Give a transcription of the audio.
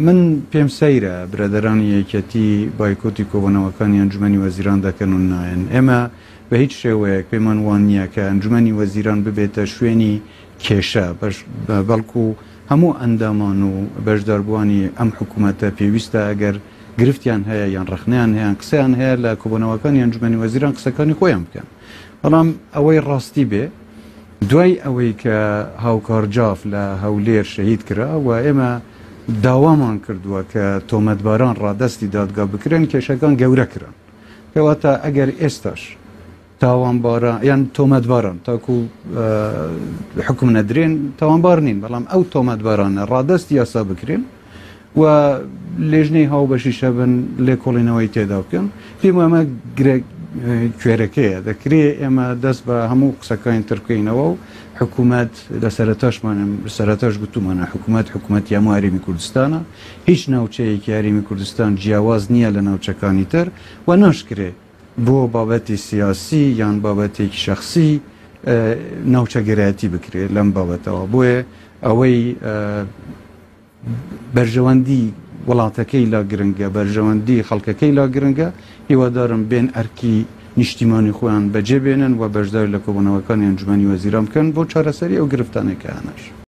من پێم سەیرە برادەرانی یەکێتی بایکۆتی کۆبوونەوەکانی ئەنجومەنی وەزیران دەکەن و نایەن. ئێمە بە هیچ شێوەیەک پێمان وان نییە کە ئەنجومەنی وەزیران ببێتە شوێنی کێشە، بەڵکو هەموو ئەندامان و بەشداربووانی ئەم حکوومەتە پێویستە ئەگەر گرفتیان هەیە یان ڕەخنەیان هەیە یان قسەیان هەیە لە کۆبوونەوەکانی ئەنجومەنی وەزیران قسەکانی خۆیان بکەن. بەڵام ئەوەی ڕاستی بێ دوای ئەوەی کە هاوکار جاف لە هەولێر شەهید کرا و ئێمە داوامان کردووە کە تۆمەتباران ڕادەستی دادگا بکرێن، کێشەکان گەورە کران. کەواتە ئەگەر ئێستاش تاوانباران یان تۆمەتباران تاکو حکم نەدرێن تاوانبار نین، بەڵام ئەو تۆمەتبارانە ڕادەستی یاسا بکرێن و لێژنەی هاوبەشیش هەبن لێکۆڵینەوەی تێدا بکەن، پێم وایە ئەمە گرێ کوێرەکەیە. دەکرێ ئێمە دەست بە هەموو قسەکانی تر بکەینەوە و حکوومەت لە سەرەتاشمان سەرەتاش گوتومانە حکوومەت حکوومەتی هەموو هەرێمی کوردستانە، هیچ ناوچەیەکی هەرێمی کوردستان جیاواز نییە لە ناوچەکانی تر و ناشکرێ بۆ بابەتی سیاسی یان بابەتێکی شەخسی ناوچەگەرایەتی بکرێت لەم بابەتەوە. بۆیە ئەوەی بەرژەوەندی وڵاتەکەی لا گرنگە، بەرژەوەندی خەڵکەکەی لا گرنگە، هیوادارم بێن ئەرکی نیشتیمانی خۆیان بەجێ بێنن و بەشداری لە کۆبوونەوەکانی ئەنجومەنی وەزیران بکەن بۆ چارەسەری ئەو گرفتانەی کە هەنەش.